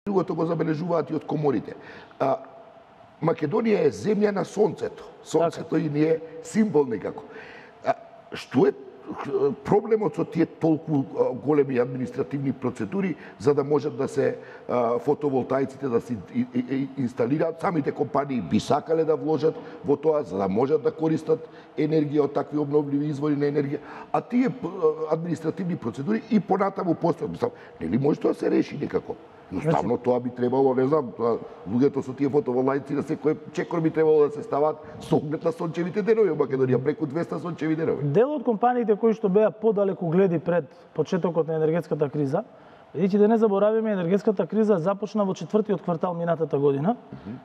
Другото го забележуваат и од коморите. Македонија е земја на сонцето. Сонцето и ни е символ некако. Што е проблемот со тие толку големи административни процедури за да можат да се фотоволтаиците да се инсталираат? Самите компании би сакале да вложат во тоа за да можат да користат енергија од такви обновливи извори на енергија, а тие административни процедури и понатаму постојат. Нели може тоа да се реши некако? Jednostavno тоа би требало, не знам, луѓето со тие фотоволтаици на секој чекор би требало да се стават со оглед на сончевите денови во Македонија, преку 200 сончеви денови. Дел од компаниите кои што беа подалеку гледи пред почетокот на енергетската криза, бидејќи да не заборавиме, енергетската криза започна во четвртиот квартал минатата година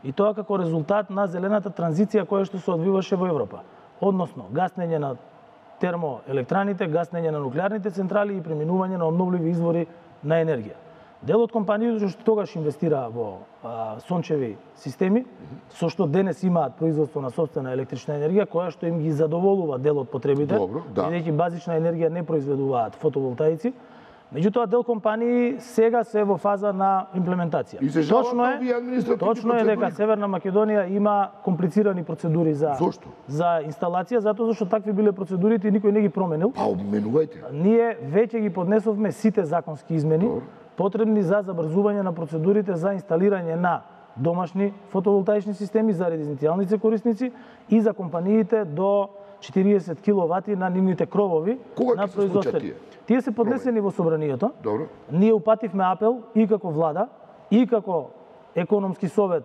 и тоа како резултат на зелената транзиција која што се одвиваше во Европа. Односно, гаснење на термоелектраните, гаснење на нуклеарните централи и преминување на обновливи извори на енергија. Дел од компаниите што тогаш инвестираа во сончеви системи, со што денес имаат производство на сопствена електрична енергија, која што им ги задоволува дел од потребите, бидејќи базична енергија не произведуваат фотоволтаици. Меѓутоа, дел компании сега се во фаза на имплементација. Точно е дека Северна Македонија има комплицирани процедури за инсталација, затоа зашто такви биле процедурите и никој не ги променил. Ние веќе ги поднесовме сите законски измени потребни за забрзување на процедурите за инсталирање на домашни фотоволтаични системи за резиденцијалните корисници и за компаниите до 40 киловати на нивните кровови на производствени. Тие се поднесени во собранието. Ние упативме апел и како влада, и како економски совет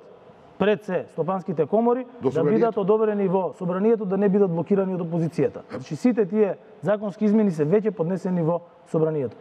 пред се стопанските комори да бидат одобрени во собранието, да не бидат блокирани од опозицијата. Значи сите тие законски измени се веќе поднесени во собранието.